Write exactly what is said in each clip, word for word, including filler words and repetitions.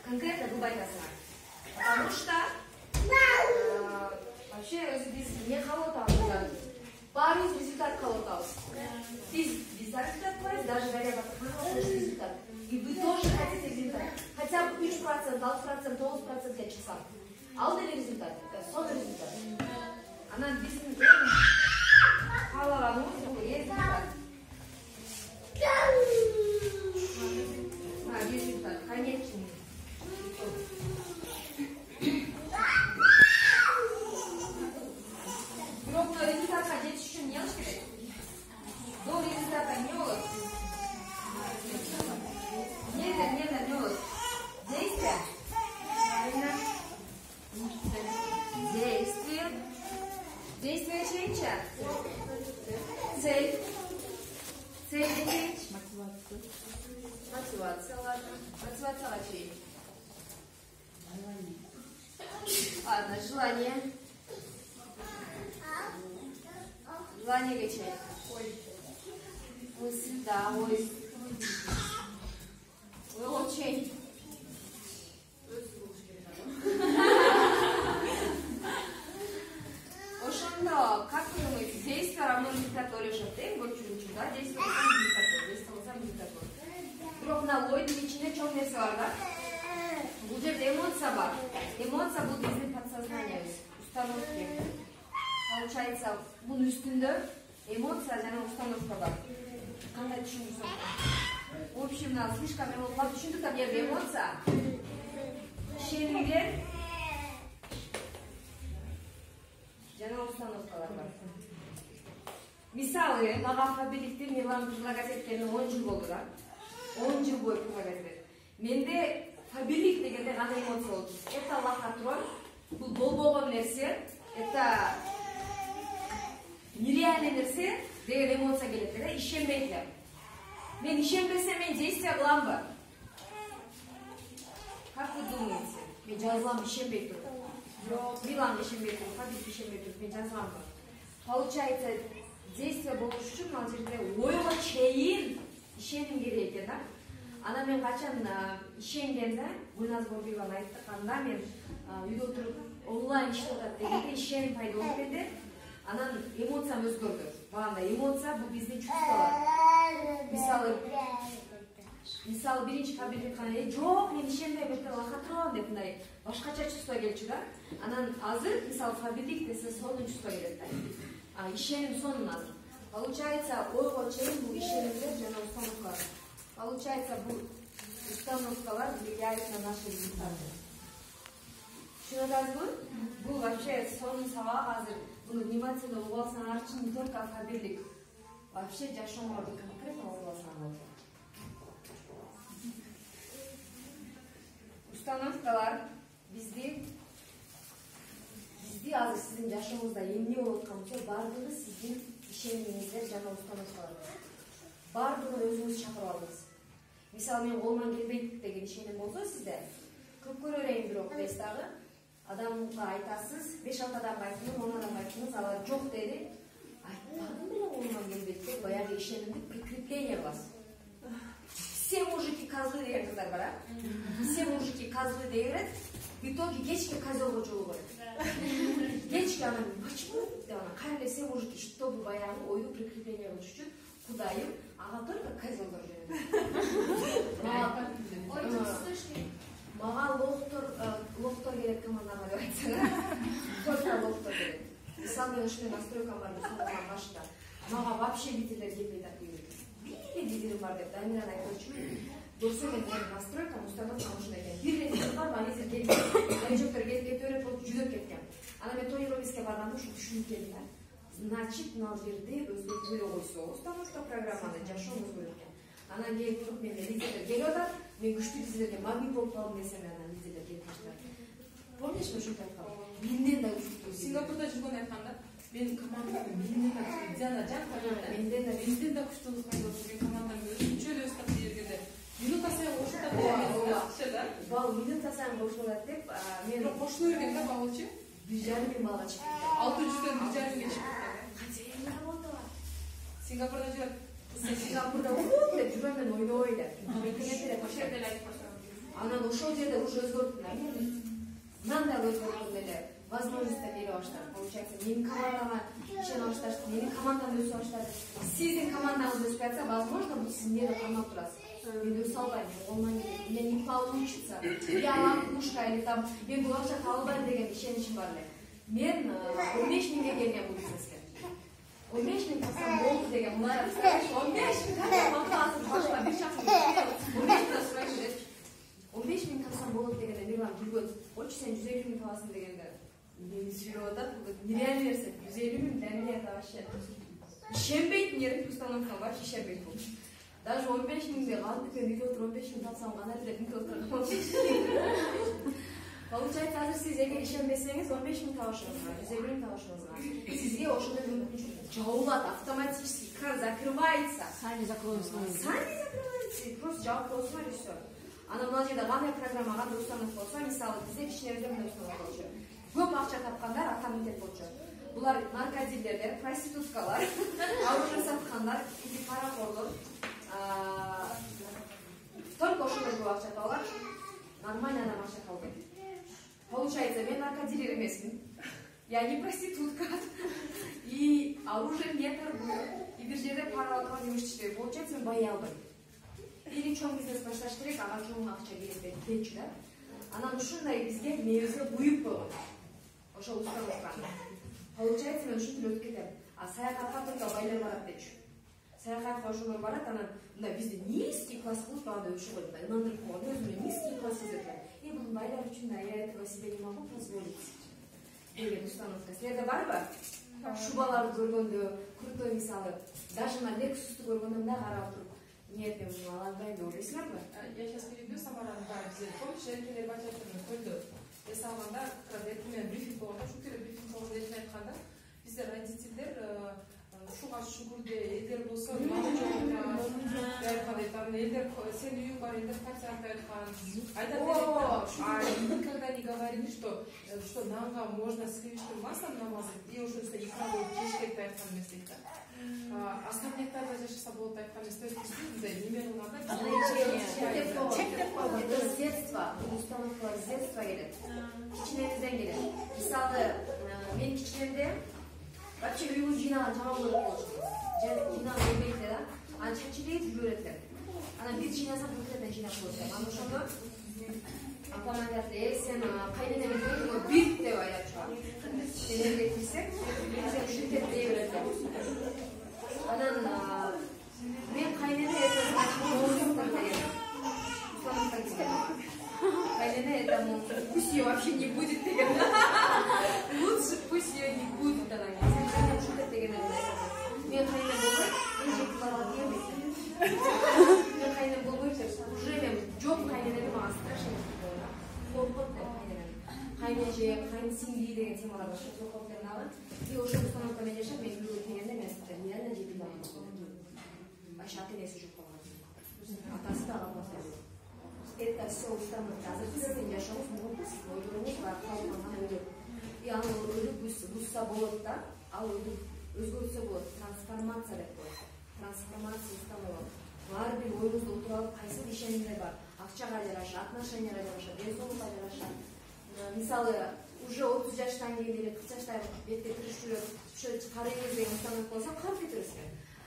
конкретно кылбай атасыңар. Потому что вообще өзү биз эмне кабыл атабыз? Баарыбыз результат кабыл атабыз. Биз биз результат кылабыз, даже Дарья Батырханова результат. И вы тоже хотите результат. Хотя бы үч процент, алты процент, тогуз процентке чыкса. Ал деле результат. Сон результат. Анан биздин каалаганыбыз бул результат. А, результат, конечный. Бирок мына результатка жетиш үчүн эмне кылыш керек? До результата эмне болот? Эмнеден эмнеден эмне болот? Действие. Правильно. Действие. Действие чейинчи. Цель. Цель чейинчи. Мотивация. Мотивация, ладно. Мотивацияга чейин. Ладно, желание. Желание чейин. Ой. Мысль, да, ой. Ой, очень. Ошондо, как вы думаете, действие равно результату решат, да? Вот чуть-чуть, да? Действие равно результату, действие равно результату. Бирок мына ойдун ичинде чоң нерсе бар да? Бул жерде эмоция бар. Эмоция бул биздин подсознаниябыз, установки. Получается, бунун үстүндө эмоция жана установка бар. Кандай түшүндүрсөм? В общем, мына слишком эмоция түшүндүк да, бул жерде эмоция. Ишенимдер жана установкалар бар. Мисалы, мага Фабиликти Мирлан предлагать эткенине он жыл болду да. он жыл бою предлагать этет. Менде Фабилик дегенде кандай эмоция болду? Это лохотрон, бул болбогон нерсе, это нереальный нерсе деген эмоция келет да, ишенбейт элем. Мен ишенбесем мен действие кыламбы? Как вы думаете? Мен жазылам, ишенбей туруп. Жок, Милан ишенбей туруп, Фабилик ишенбей туруп, мен жазыламбы? Получается, действие болуш үчүн ал жерде ойго чейин ишеним керек экен да. Ана мен качан ишенгенде, Гүлназ Борбиеваны айтканда мен үйдө отуруп онлайн иштеп атат дегенде ишеним пайда болуп кетти. Анан эмоциям өзгөрдү. Баганда эмоция бул биздин чувстволор. Мисалы, мисалы биринчи Фабилик айткан, жок, мен ишенбейм, это лохотрон деп мындай башкача чувство келчү да. Анан азыр мисалы Фабилик десе сонун чувство келет да. А ишеним сонун азыр. Получается, ойго чейин бул ишенимдер жана установкалар. Получается, бул установкалар влияют на наши результаты. Түшүнүп атасызбы? Бул вообще сонун сабак азыр. Буну внимательно угуп алсаңар үчүн не только Фабилик. Вообще жашооңорду конкретно угуп алсаңар болот. Установкалар бизди бизди азыр сиздин жашооңузда эмне болуп аткан болсо, баардыгы сиздин ишенимиңиздер жана установкалар. Баардыгын өзүңүз чакырып алыңыз. Мисалы, мен колуман келбейт деген ишеним болсо сизде, көп көрөрөйм бирок дейсиз дагы, адамга айтасыз, беш алты адамга айттыңыз, он адамга айттыңыз, алар жок деди. Айтпадым беле колуман келбейт деп баягы ишенимди прикрепление кыласыз. Все мужики козлы деген кыздар бар, а? Все мужики козлы deyverет, в итоге кечке козелго жолугат. Кечке анан почему деп анан кайра все мужики чтобы баягы ойду прикрепление кылыш үчүн Кудайым, ага только козелдор жүрөт. Мага лохтор, лохтор керек командага деп айтсаңар. Только лохтор керек. Мисалы, мен ушундай настройкам бар деп соңгудан башында. Мага вообще битилер келбей так дейт. Бир битилер бар деп Дамиран айтчу. Досу мен настройкам установкам ушундай экен. Бир рет бар, вализер келбей. Жөктөр келип кете берип, жүдөп кеткен. Анан мен Тоировиске барганда ушу түшүнүп келдим да. Значит, мына жерде өзгөртүп эле койсо, установка программаны жашоо өзгөрөт экен. Анан келип туруп мен лидерлер келип атат, мен күчтүү лидерлерге магнит болуп калдым десем, анан лидерлер келип баштады. Помнишь, мен ушинтип айткам? Менден да күчтүү. Сингапурда жүргөн айтканда, мен командамда менден да күчтүү, Диана Жан команда, менден да менден да күчтүү пайда болгон командамды өзүнчө эле өстап бергенде, минута сайын кошулат деп, бал минута сайын кошулат деп, мен кошуло берген да балчы. бир жарым миң балга чыгып кетти. алты жүздөн бир жарым миңге чыгып кетти. Кантип работала? Сингапурда жүрөт. Сингапурда болот деп жүрөм мен ойнобой деп. Ошол эле айтып баштаган. Анан ошол жерде уже өзгөрттүм да. Мындай өзгөрттүм эле. Возможностьтер бере баштады. Получается, менин командама ишене баштады, менин командам өсө баштады. Сиздин командаңыз өсүп жатса, возможно, бул сиз эмнеде кармап турасыз. Мен өсө албайм, колуман келет. У меня не получится. Я лохушка или там мен бул акча таба албайм деген ишеничим бар эле. Мен он беш миңге келген бул бизнеске. он беш миң калсам болду деген мына он беш миң калсам макуласыз башка бир шахс он беш миң сурайт. он беш миң калсам болот дегенде Мирлан жүргөт. Очу сен жүз элүү миң табасың дегенде мени сүйрөп атат. Бул нереально нерсе. жүз элүү миң для меня это вообще ишенбейтин жерде установка бар, ишенбейт бул. Даже он беш миңди кантип үйдө отуруп он беш миң тапсам кандай эле үйдө отурам. Получается, азыр сиз эгер ишенбесеңиз он беш миң табышыңызга, жүз элүү миң табышыңызга сизге ошондой мүмкүнчүлүк жабылат, автоматически кран закрывается. Сами закроются. Сами закрываются, просто жабып коесуңар и все. Анан мына жерде кандай программа, кандай установка болсо, мисалы бизде кичинебизде мындай установка болчу. Көп акча тапкандар автоматик болчу. Булар наркодилерлер, проституткалар, оружие саткандар, паракорлор, только ошолор көп акча табалар. Нормально адам акча табалбайт. Получается, мен наркодилер эмесмин. Я не проститутка. И оружие не торгую. И бир жерде пара алып жумуш иштебейм. Получается, мен бай албайм. Или чоң бизнес башташ керек, ага чоң акча керек депчү да. Анан ушундай бизге мебизге буюп койгон. Ошол установка. Получается, мен ушинтип өтүп кетем. А саякатка только байлар барат депчү. Саякатка ошолор барат, анан мындай бизде низкий класс кылып андай ушул мындай ынандырып койгон. Өзүмө низкий класс экен. И бул байлар үчүн да я этого себе не могу позволить. Деген установка. Силерде барбы? Шубаларды көргөндө, крутой мисалы, даже на Lexus'ты көргөндө мындай карап туруп, нет, мен муну ала албайм деп ойлойсуңарбы? Я сейчас перейду, Самараны бар бизде. Помнишь, эркелер бачаттын көлдө эс алганда, мен брифинг болгондо, ушул келе брифинг болгондо эркин айтканда, бизде родительдер ушуга шүгүрдө элдер болсо, айткандай там элдер сен үйүң бар, элдер такси айткан. Айтат эле, никогда не говорили, что что нанга можно сливочным маслом намазать и уже икра болуп жеш керек деп айткан эмес дейт. Остальниктарда жашаса болот деп айткан эмес. То есть бизде неме кылганда это с детства, установкалар с детства келет. Кичинебизден келет. Мисалы, мен кичинемде вообще үйгө жыйнаган жаман көрүп болчу. Жыйнаган келбейт да. Анан чечилейт жүрөт эле. Анан биз жыйнасак бутырдан жыйнап коет. Анан ошондо апам айтат, э сен кайненең көргөнгө бит деп айтат чыгат. Сен элге кирсек, сен ушинтип дей берет. Анан мен кайнене Кайнене это пусть ее вообще не будет деген. Лучше пусть ее не будет тогда. Сен ушинтип деген эле. Мен кайнене болбойт, мен жек кылат эмесмин. Мен кайнене болбойт деп, уже мен жок кайненеме мага страшно болду. Коркот деп кайненем. Кайнеже, кайнсиңди деген темалар бар. Коркоттун алы. И ошол установкамен жашап, мен үйгө келгенде мен реально жек кылам. Вообще ата-энеси жок болгон. Атасы да апасы да. Это все установка. Азыр сиздин жашооңуз муңдуз, ойлоруңуз бар, калган ойлор. И аны ойлоп бузса болот да, ал ойлоп өзгөртсө болот. Трансформация деп коет. Трансформация установок. Ар бир оюңузду отуруп алып, кайсы ишенимдер бар. Акчага жараша, отношенияга жараша, денсаулыкка жараша. Мисалы, уже отуз жаштан кийин эле кырк жаштай бетке киришип, ошо карайбыз деген установка болсо, калып кетесиз.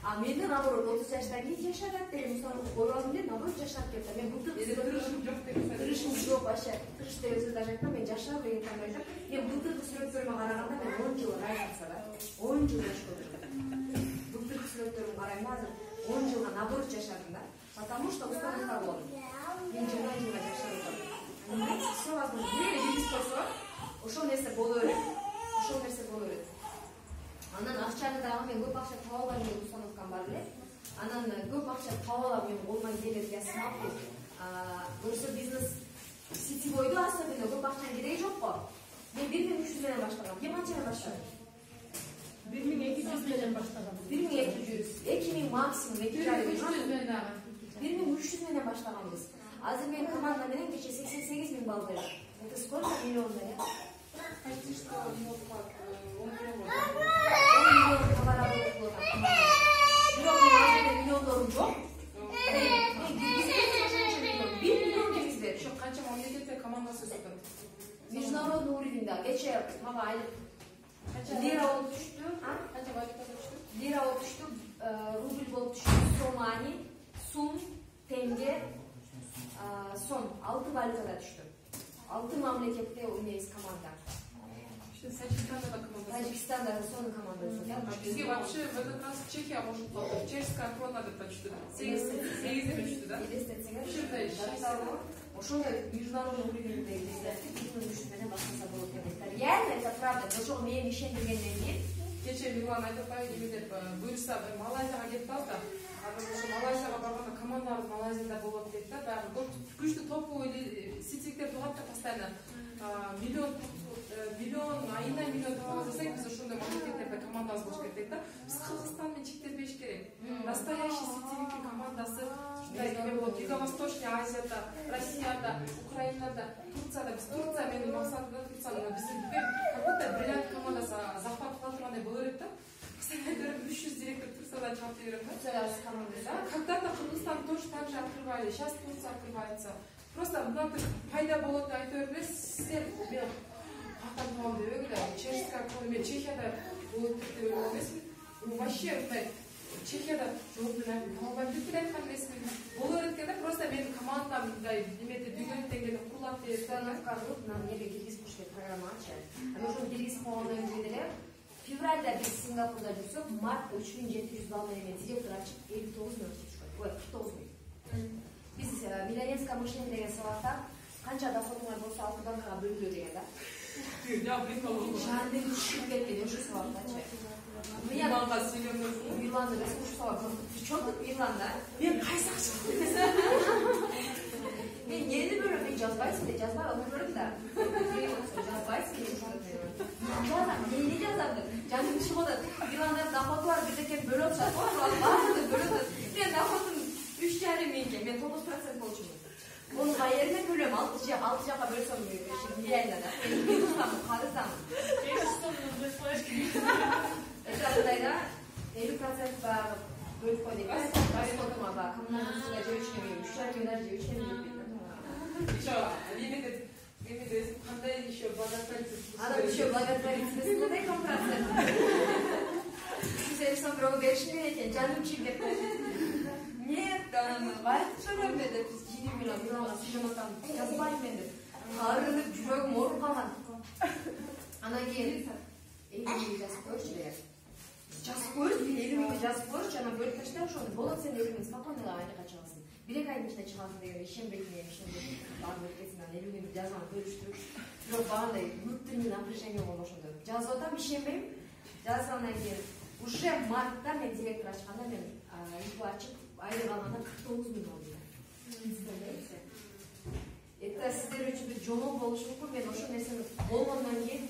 А менде наоборот отуз жаштан кийин жашадат деген установка коюп алдым да, наоборот жашап кетти. Мен былтыр кырышым жок деген. Кырышым жок вообще. Кырыш деген сөздү айттым, мен жашап деген кандай айтам. Мен былтыркы сүрөттөрүмө караганда мен он жыл разница да. он жыл жашап отырдум. Былтыркы сүрөттөрүмө карайм да, азыр он жылга наоборот жашадым да. Потому что установка болду. Мен жыйырма жылга жашап отырдум. Понимаете, все возможно. Бир эле бизнес болсо, ошол нерсе боло берет. Ошол нерсе боло берет. Анан акчаны дагы мен көп акча таба албайм деген установкам бар эле. Анан көп акча таба алам, мен болмай келет, я смогу. Көрсө бизнес сетевойду особенно көп акчанын кереги жок го. Мен бир миң үч жүз менен баштагам. Мен канчадан баштадым? бир миң эки жүз менен баштагам. бир миң эки жүз, эки миң максимум, эки жүз. бир миң үч жүз менен баштаганбыз. Азыр мен команда менен кече сексен сегиз миң балл берет. Это сколько миллионда, я? Почти что он миллион. он миллион товар алып болот. Бирок мен азыр миллиондорум жок. бир миллион кеңиз берип, ошо мамлекетте командасы өсөт. Международный уровеньде кече мага айлык лира болуп түштү, а? Канча валюта түштү? Лира болуп түштү, рубль болуп түштү, сомани, сум, тенге, сом, алты валютада түштү. Алты мамлекетте ойнойбуз команда. Таджикистанда да команда. Таджикистанда да сонун команда өсөт. Бизге вообще в этот раз Чехия кошулуп калды. Чешская крона деп түштү. сегиз түштү да. Элестетсеңер, ошондой международный уровеньде биздин үчүн менен баштаса болот деп. Реально это правда. Ошого мен ишендиргенден кийин кече Мирлан айтып атпайбы эме деп буюрса Малайзияга кетип алды да. Анан ошо Малайзияга барганда командалар Малайзияда болот дейт да. Баягы бул күчтүү топовый сетевиктер турат да постоянно. Миллион миллион айына миллион табабыз биз ошондой мамлекеттерде командабыз болуш керек дейт да. Биз Кыргызстан менен чектелбеш керек. Настоящий сетевиктин командасы Юго-Восточный Азияда, Россияда, Украинада, Турцияда, биз Турция менин максатым Турцияда биз как будто бриллиант командасы захват кыла тургандай боло берет да. Постоянно үч жүз директор Турцияда чалып берет да. Турцияда команда. Когда-то Кыргызстан тоже так же открывали, сейчас Турция открывается. Просто мынтип пайда болот деп айта бербес, силер мен катан табам деп эле, Чешская крона, мен Чехияда болот деп ойлогон эмесмин. Вообще мындай Чехияда жок менен табам деп айткан эмесмин. Болор экен да, просто менин командам мындай немеде бүгүн деңгээлде курулат деп установка кылып, нам жерге киргизип коюш керек программа ачат. Анан ошону киргизип койгондон кийин деле февралда биз Сингапурда жүрсөк, мартта үч миң жети жүз балл менен директор ачып элүү тогуз миң түшкөн. Ой, кырк тогуз миң. Биз миллионерское мышление деген сабакта канча доходуңар болсо алты банкага бөлгүлө деген да. Я прикол. Жанды түшүп кеткен ошо сабактачы. Миланга сүйлөмөз. Миланда да ушул сабак. Чоң Миланда. Мен кайсакчы. Мен нени бөлөм, мен жазбайсың деп жазбай отурдум да. Жазбайсың деп жаздым. Жазам, нени жазам деп. Жаным түшүп атат. Миланда доходу бар, бирдеке бөлөп жатат. Баарды бөлөп. Мен доходум үч жарым миңге, мен тогуз процент болчумун. Мунун кайеринен бөлөм, алты жакка бөлсөм реально да. Мен устамын, карыздамын. Это мындай да, элүү процент баягы бөлүп кой дейт. Расходума баягы коммуналдык услуга же үч миң, үч жарым миң же үч миң деп. Еще лимит лимит кандай еще благотворительность. Анан еще благотворительность кандай процент? Сиз сам бирөө беришин экен, жаным чип деп. Нет, анан валют төлөмбө деп жиди миллион миллионга сүйлөмөтам, жазбайм мен деп. Арынып жүрөгүм ооруп калган. Анан кийин элүү миң жазып коюрчу деген. Жазып коюрчу, элүү миң жазып коюрчу, анан бөлүп таштай ошону. Болот сен элүү миң спокойно айга чыгасың. Бир эки айдын ичинде чыгасың деген ишенбейт мен, ишенбейт. Баарын өткөзүн, анан элүү миң жазган бөлүштүрүп. Бирок багандай внутренний напряжение болгон ошондо. Жазып атам, ишенбейм. Жазгандан кийин уже мартта мен директор ачканда мен ип ачып айлык алганда кырк тогуз миң алды. Представляете? Это сиздер үчүн бир жолу болушу мүмкүн. Мен ошол нерсени болгондон кийин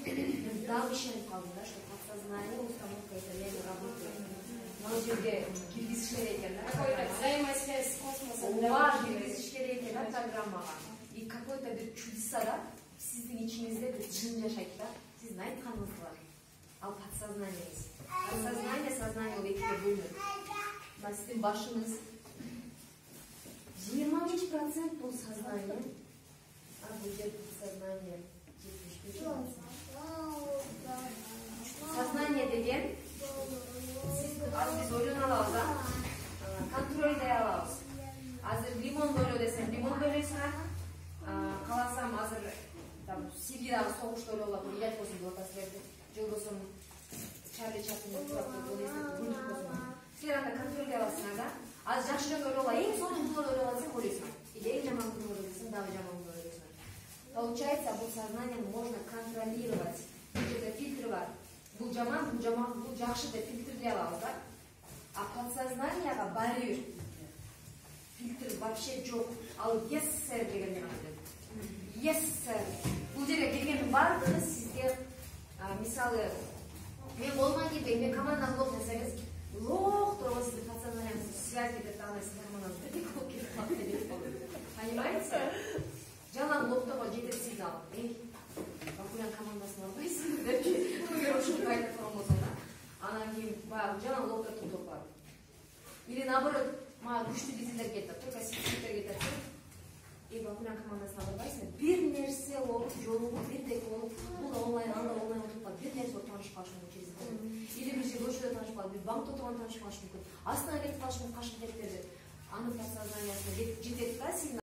мен дагы ишенип калдым да, что подсознание установка это реально работает. Ал жерге киргизиш керек экен да. Какой-то взаимосвязь с космосом. Ооба, киргизиш керек экен да программага. И какой-то бир чудеса да сиздин ичиңизде бир жын жашайт да. Сиздин айтканыңыз бар. Ал подсознаниеңиз. Подсознание, сознание ол экиге бөлүнөт. Мына сиздин башыңыз жыйырма беш процент бул сознание, а бул жер подсознание жетимиш беш процент. Сознание деген сиз азыр биз ойлоно алабыз, а? Контролдой алабыз. Азыр лимон бөлө десем, лимон бөлөсүң. Каласам азыр там Сирияда согушта ойлоп алам, илет болсун деп атасыздар. Же болбосо Чарли Чаплин турат болсун. Силер анда контролдой аласыңар да. Аз жакшыраак ойлоп, эң сонун кылып ойлоп алсаң ойлойсуң. Или эң жаман кылып ойлойсуң, дагы жаман кылып ойлойсуң. Получается, бул сознание можно контролировать. Бул фильтр бар. Бул жаман, бул жаман, бул жакшы деп фильтрлей алабыз да. А подсознанияга барьер. Фильтр вообще жок. Ал yes sir дегенди айтат. Yes sir. Бул жерге келгендин баардыгы сизге мисалы мен болман кезде мен командам лох десеңиз, лох турган сиздин подсознаниеңиз связь этип андай сиздин командаңыз бирдек болуп кетип калат деп болот. Понимаете? Жалаң лохтого жетет сигнал. Эй, Бакулян командасын албайсың деп көгөр ушундай айтып турган болсо да. Анан кийин баягы жалаң лохто токтоп калат. Или наоборот, мага күчтүү дизелер кетет, только сиздер кетет. и Бакулян командасына барбайсың, бир нерсе болуп, жолугу бирдек болуп, бул онлайн, анда онлайн отуруп калып, бир нерсе таанышып калыш мүмкүн через интернет. Или бир жерде көчөдө таанышып калып, бир банкта отурганда таанышып калыш мүмкүн. Астына кетип калыш мүмкүн, кашып кетип берди. Анын подсознаниясына жетет да, сиздин